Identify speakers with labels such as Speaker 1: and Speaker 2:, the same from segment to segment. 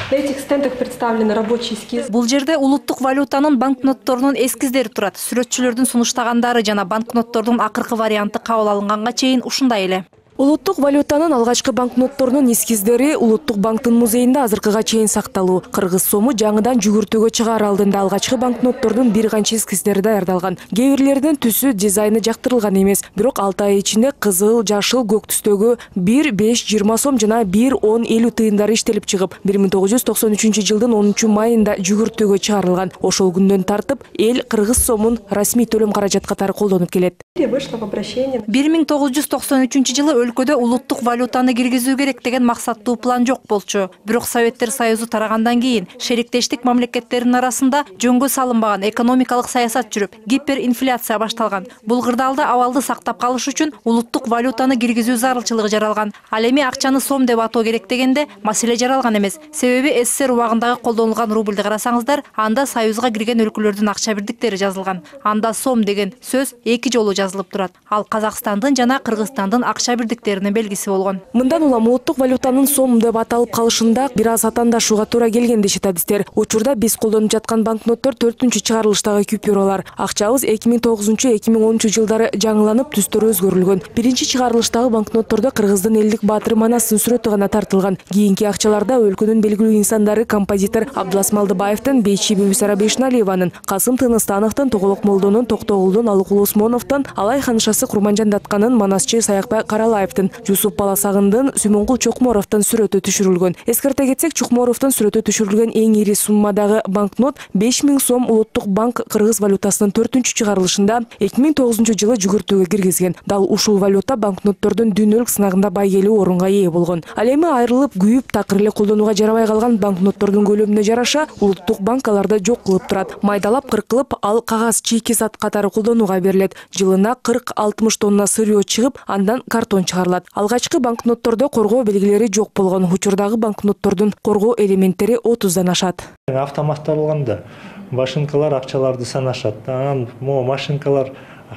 Speaker 1: На этих стендах представлены рабочий эскиз.
Speaker 2: Бул жерде улуттук валютанын банкнотторунун эскиздери турат. Сүрөтчүлөрдүн сунуштагандары жана банкноттордун акыркы варианты кабыл алынганга чейин ушундай эле.
Speaker 3: Улуттук валютанын алгачкы банкнотторунун эскиздери Улуттук банктын музейинде азыркыга чейин сакталуу. Кыргыз сому жаңыдан жүгүртүүгө чыгаар алдында алгачкы банкноттордун бир канча эскиздери даярдалган. Кээ бирлеринин түсү, дизайны жактырылган эмес, бирок 6 ай ичинде кызыл, жашыл, көк түстөгү 1, 5, 20 сом жана 1, 10, 50 тыйындары иштелип чыгып, 1993-жылдын 10-майында жүгүртүүгө чыгарылган. Ошол күндөн тартып эл кыргыз сомун расмий төлөм каражат катары колдонуп келет.
Speaker 1: Вышло в обращение.
Speaker 2: 1993-жылы өлкөдө улуттук валютаны киргизүү керек деген максаттуу план жок болчу. Бирок Советтер Союзу тарагандан кийин шериктештик мамлекеттеринин арасында жөнгө салынбаган экономикалык саясат жүрүп, гиперинфляция башталган. Бул кырдаалда абалды сактап калыш үчүн улуттук валютаны киргизүү зарылчылыгы жаралган. Ал эми акчаны сом деп атоо керек дегенде маселе жаралган эмес. Себеби СССР убагындагы колдонулган рубльди карасаңыздар, анда Союзга кирген өлкөлөрдүн акча бирдиктери жазылган. Анда сом деген сөз 2 жолу жазылып турат. Ал Казакстандын жана Кыргызстандын акча бирдиктеринин белгиси болгон.
Speaker 3: Мындан улам улуттук валютанын сом деп аталып калышында бир аз атаандашууга туура келген дешет адистер. Учурда биз колдонуп жаткан банкноттор 4-чү чыгарылыштагы купюралар. Акчабыз 2009-2010 жылдары жаңыланып, түстөрү өзгөрүлгөн. Биринчи чыгарылыштагы банкноттордо кыргыздын элдик баатыры Манастын сүрөтү гана тартылган. Кийинки акчаларда өлкөнүн белгилүү инсандары композитор Абдылас Малдыбаевдин, Бейчи Бибисара Бейшналиеванын, Касым Тыныстановдун, Тоголок Молдонун, Токтогулдун, Алыкул Осмоновдун, Алай ханышасы Курманжан Датканын, Манасчы Саякбай Каралаевдин, Жусуп Баласагындын, Сүмөнгул Чокморовдун сүрөтү түшүрүлгөн. Эскерте кетсек, Чокморовдун сүрөтү түшүрүлгөн эң ири суммадагы банкнот 5000 сом Улуттук банк кыргыз валютасынын 4-чү чыгарылышында 2009-жылы жүгүртүүгө киргизген. Дал ушул валюта банкноттордун дүйнөлүк сынагында байгелүү орунга ээ болгон. Ал эми айрылып, күйүп, такыр эле колдонууга жарабай калган банкноттордун көлөмүнө жараша Улуттук банк аларды жок кылып турат. Майдалап кыркылып, ал кагаз чийки зат катары колдонууга берилет. Жылына 40-60 тонна сырьё чыгып, андан картон чыгарылат. Алгачкы банкноттордо коргоо белгилери жок болгон. Учурдагы банкноттордун коргоо элементтери 30дан ашат.
Speaker 4: Автоматталганда машинкалар акчаларды санашат. Анан машинкалар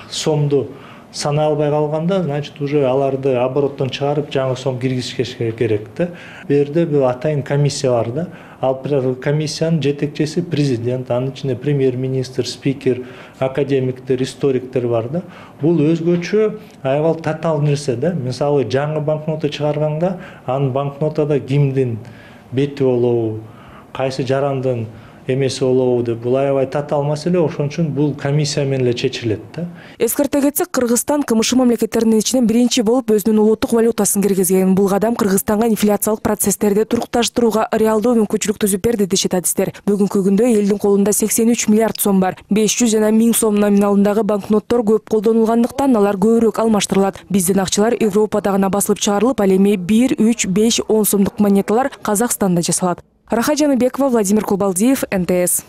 Speaker 4: сомду санай албай калганда, значит, уже аларды обороттон чыгарып, жаңы сом киргизиш керек да. Бу жерде бул атайын комиссия бар да. Ал комиссиянын жетекчиси президент, анын ичинде премьер-министр, спикер, академиктер, историктер бар да. Бул өзгөчө аябал татаал нерсе да. Мисалы, жаңы банкнота чыгарганда, анын банкнотада кимдин бети болобу, кайсы жарандын эмеси болобу деп, бул аябай татаал маселе, ошон үчүн бул комиссия менен эле чечилет да.
Speaker 3: Эскерте кетсек, Кыргызстан КМШ мамлекеттеринин ичинен биринчи болуп өзүнүн улуттук валютасын киргизген. Бул кадам Кыргызстанга инфляциялык процесстерди турукташтырууга реалдуу мүмкүнчүлүк түзүп берди дешет адистер. Бүгүнкү күндө элдин колунда 83 миллиард сом бар. 500 жана 1000 сом номиналындагы банкноттор көп колдонулгандыктан алар көбүрөөк алмаштырылат. Биздин акчалар Европада гана басылып чыгарылып, ал эми 1, 3, 5, 10 сомдук монеталар Казакстанда жасалат. Раха Жаныбекова, Владимир Кулбалдиев, НТС.